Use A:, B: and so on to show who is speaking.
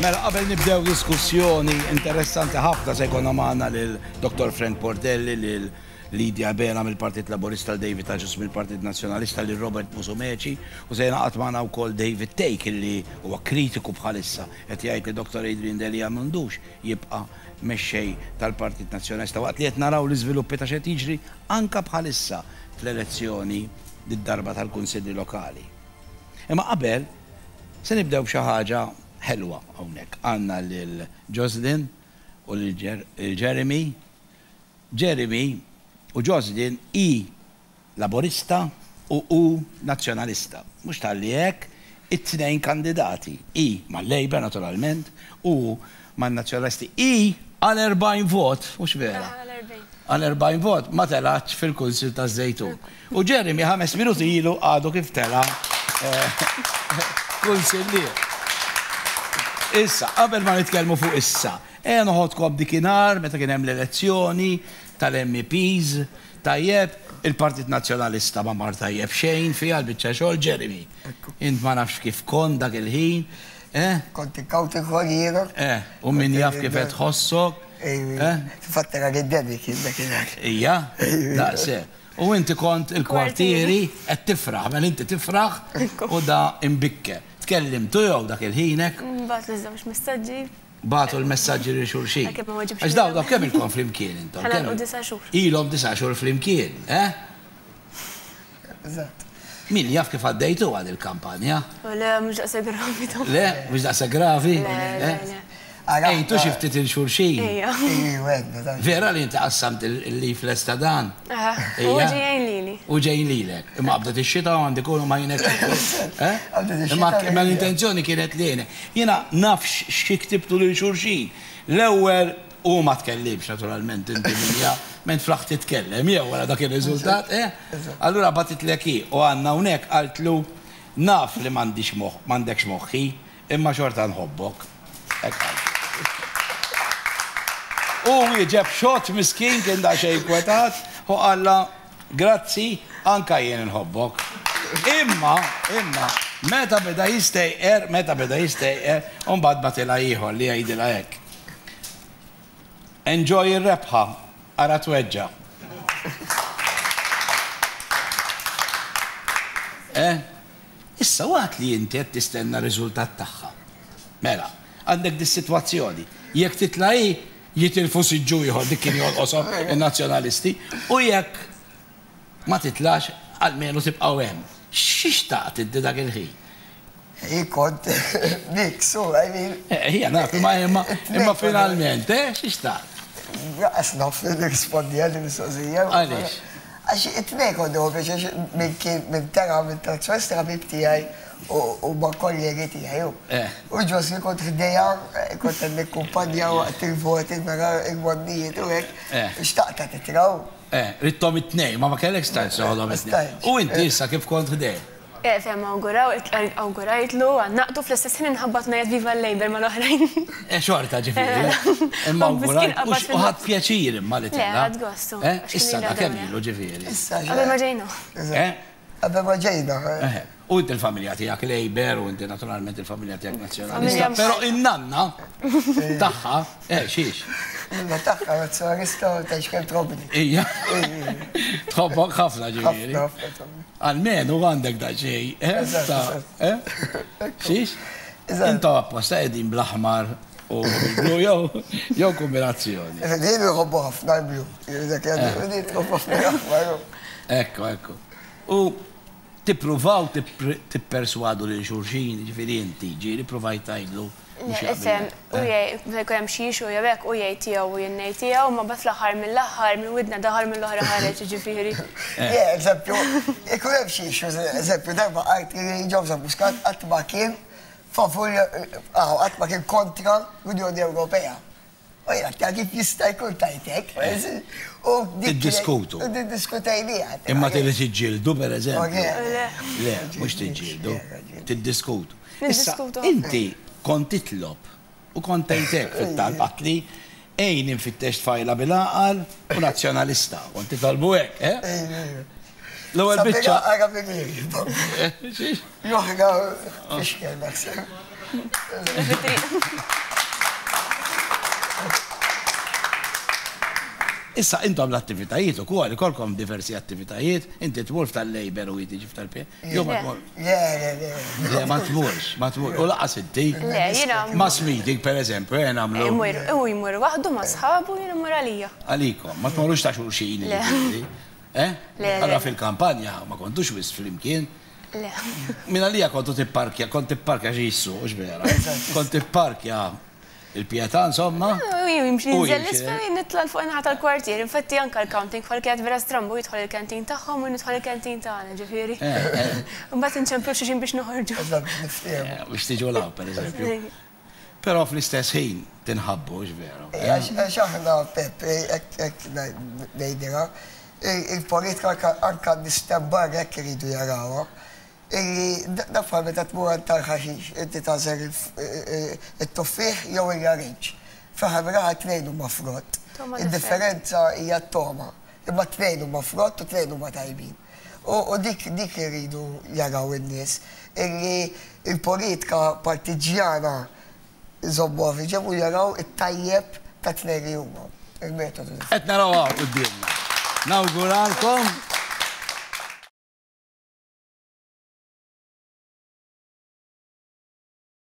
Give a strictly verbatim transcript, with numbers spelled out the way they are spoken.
A: Mela, qabel nibdew diskussjoni interessanti ħafna se jkollna magħna lil Dottor Frank Portelli, lil Lydia Abela mill-Partit Laburista, David Agius mill-Partit Nazzjonalista, lil Robert Musumeci, u se jingħaqad magħna wkoll David Thake, illi huwa kritiku bħalissa qed jgħid li Dottor Adrian Delia m'għandux jibqa' mexxej tal-Partit Nazzjonalista waqt li qed naraw l-iżviluppi ta' x'qed jiġri anka bħalissa fl-elezzjoni d-darba tal-Kunsilli Lokali. Imma qabel se nibdew b'xi ħaġa ħelwa hawnhekk. Għandna lil Jocelyn u lil Jeremy. Jeremy u Jocelyn hi Laburista u hu Nazzjonalista. Mhux talli hekk, it-tnejn kandidati. Hi mal-Labour naturalment u man-Nazzjonalisti. Hi għal erbgħin vot, mhux vera? Għal erbgħin vot ma telgħatx fil-Kunsill taż-Żejtun. U Jeremy ħames minuti ilu għadu kif tela' kunsillier. Issa, qabel ma nitkellmu fuq issa, ejja noħodkom dikinhar meta kien hemm l-elezzjoni tal-M E Ps, tajjeb, il-Partit Nazzjonalista ma mar tajjeb xejn fiha l-biċċa xogħol, Jeremy. Int ma nafx kif kont dak il-ħin, eh?
B: Kont inkawti kwarriera.
A: Eh, u min jaf kif qed tħossok.
B: Eh? Fatt era li d-debi kien dakinhar.
A: Ija, daqshekk. U inti kont il-kwartieri qed tifraħ, mela inti tifraħ u da imbikke. Tkellimtu jew dak il-ħinek?
C: Bagħtu l-żewġ messaġġi.
A: Bagħtu l-messaġġi lil xulxin.
C: Għalkemm ma weġibx
A: Għax daw, daw kemm ilkom flimkien intom?
C: Ħalaqu
A: Kemm
C: disa' xhur.
A: Ilhom disa' xhur flimkien, eh?
B: Eżatt.
A: Min jaf kif għaddejtu għad il-kampanja?
C: Le, mhux daqshekk gravi ta'.
A: Le, mhux daqshekk gravi?
C: Le, le,
A: Eh?
C: le.
A: Ejtu xi ftit il-xulxin.
C: Ejja.
B: Ejja,
A: Vera li inti qassamt il-leaflets ta' dan?
C: Aha.
A: Ejja.
C: U ġejjin lili.
A: U ġejjin lilek. Imma qabdet ix-xita u għandi kunu ma jinek. Eh?
B: Qabdet ix-xita
A: Imma
B: u
A: imma l-intenzjoni kienet li jiena. Jiena naf xi ktibtu lil xulxin. L-ewwel u ma tkellimx naturalment inti minja, ment flaħ titkellem jew wara dak ir-riżultat, eh? Allura bagħtitlek hi u għandna hawnhekk qaltlu naf li m'għandix moħ, m'għandekx moħħi, imma xorta nħobbok. Hekk qaltlu. U wieġeb xott miskin kien da xejn kwetat u qalla grazzi anka jien nħobbok. Imma, imma, meta beda jistejqer, meta beda jistejqer, u mbagħad bagħtilha ieħor li jgħidilha hekk. Enjoy ir-rebħa, ara tweġġa'. Eh? Issa waqt li inti qed tistenna r-riżultat tagħha. Mela, għandek dis-sitwazzjoni. Jekk titla' hi, jitilfu siġġu ieħor dik kien jolqoshom in-nazzjonalisti, u jekk ma titlax, almenu tibqgħu hemm. X'ixtaqt inti dak il-ħin?
B: Hi kont mix, u, I mean.
A: Eh, hija naf, imma, imma, imma finalment, eh, x'ixtaqt?
B: Raqas naf li nirrispondi għal mistoqsija.
A: Għaliex?
B: Għax it-tnejn kont nieħu pjaċir minn kien minn tara minn tal-ċwes tara bib tiegħi u ma' kollegi tiegħi.
A: Eh.
B: U Ġosi kont ħdejja, kont qed nikkumpanja waqt il-voti mela il-għonnijiet u hekk.
A: Eh.
B: Xtaqta titraw.
A: Eh, ridthom it-tnejn, ma ma kellekx stajt soħodhom it-tnejn.
B: Stajt.
A: U inti issa kif kont ħdej?
C: Eh, fem, awguraw, awgurajtlu, għannaqtu fl-istess ħin inħabbat ngħid viva l-Labour mal-oħrajn.
A: Eh, xorta ġifieri.
C: Eh,
A: Imma
C: u miskin
A: awgurajt,
C: qabad
A: u x-, u ħadd
C: fil-nofs.
A: pjaċir imma li
C: Le,
A: tella.
C: ħadd gostu,
A: Eh,
C: għax kien
A: issa
C: ilha
A: da kemm
C: dawra.
A: ilu ġifieri.
B: Issa,
C: Qabel ma ġejna.
A: Eh?
B: Qabel ma ġejna.
A: Eh, u inti l-familja tiegħek Labour u inti naturalment il-familja tiegħek Nazzjonalista,
C: Familja
A: però
C: mħallta.
A: in-nanna tagħha, eh, xiex?
B: Nanna tagħha Nazzjonalista u tgħix kemm tħobbni.
A: Ija. Tħobbok ħafna ġifieri.
B: Ħafna, ħafna tħobbni.
A: Almenu għandek da xejn, eh,
B: Eżatt,
A: ta'
B: eżatt.
A: eh? Xiex?
B: Eżatt.
A: Intom apposta qegħdin bl-aħmar u bl-blu jew, jew kombinazzjoni.
B: Din nħobbu ħafna l-blu. Dak jgħidu, din tħobbu ħafna l-aħmar.
A: Ekku, ekku. U tippruvaw tippr-, tipperswadu lil xulxin, ġifieri inti, ġieli provajt tgħidlu mhux
C: Le,
A: jaqbel.
C: Ifhem, u jgħid, meta jkun hemm xi issue jew hekk, u jgħid tiegħu u jien ngħid tiegħu, ma bad fl-aħħar mill-aħħar minn widna daħal mill-oħra ħareġ, ġifieri.
B: Le, eżempju, ikun hemm xi issue, eżempju, darba qalt li Joseph Muscat qatt ma kien favur, ah, qatt ma kien kontra l-Unjoni Ewropea. U jien għedt kif jista' jkun tajtek, u dik kienet-
A: Tiddiskutu.
B: U diddiskutejniha.
A: Imma tilli tiġġieldu, per eżempju.
C: Le.
A: Le, mhux tiġġieldu, tiddiskutu. Issa,
C: Niddiskutu.
A: inti kont titlob u kont tgħidlek fit-talb li ejn infittex tfajla bil-għaqal u nazzjonalista. Kont titolbu hekk, eh? L-ewwel biċċa.
B: Għara bil-għaqal.
A: Xiex?
B: Joħra fixkel naħseb.
A: Issa intom l-attivitajiet ukoll ikolkom diversi attivitajiet, inti tmur tal-Labour u jiġi tal-P. Jew ma tmur.
B: Le, le, le.
A: Le, ma tmurx, ma tmurx. U laqas inti.
C: Le, jiena.
A: Mass meeting, per eżempju, eh, nagħmlu.
C: Imur, u jmur waħdu ma' sħabu, jiena mmur għalija.
A: Għalikom, ma tmorrux ta' xulxin.
C: Le.
A: Eh?
C: Le, le.
A: Allora fil-kampanja ma kontux wisq flimkien.
C: Le.
A: Min għalija kontu tipparkja, kont tipparkja xi jissu, hux vera. Kont tipparkja il-Pietà, insomma.
C: U jimxi
A: U
C: ninżel
A: jimxi,
C: l-isfel, nitla' l fuq naħa tal-kwartier. Infatti anka l-counting bħal kienet vera strambu, jidħol il-kantin tagħhom u nidħol il-kantin tagħna, ġifieri. Mbagħad inċemplu xulxin biex noħorġu.
B: Eżatt, biex niftehmu.
A: Eh, biex tiġu law, per eżempju. Però fl-istess ħin tinħabbu, hux vera.
B: Għax għax aħna, Peppe, hekk ngħidilha, il-politika anka nistembar hekk iridu jarawha. Illi da bħal meta tmur għand tal-ħaxix, inti tagħżel it-tuffieħ jew il-larinġ. Fl-aħħar mill-aħħar tnejn huma frott.
C: Toma.
B: Id-differenza hija t-toma. Imma tnejn huma frott u tnejn huma tajbin. U dik dik iridu jaraw in-nies illi il-politika partiġjana iżommuha fi ġenb u jaraw it-tajjeb ta' tnejn li huma. Il-metodu.
A: Qed naraw hawn quddiemna. Nawguralkom.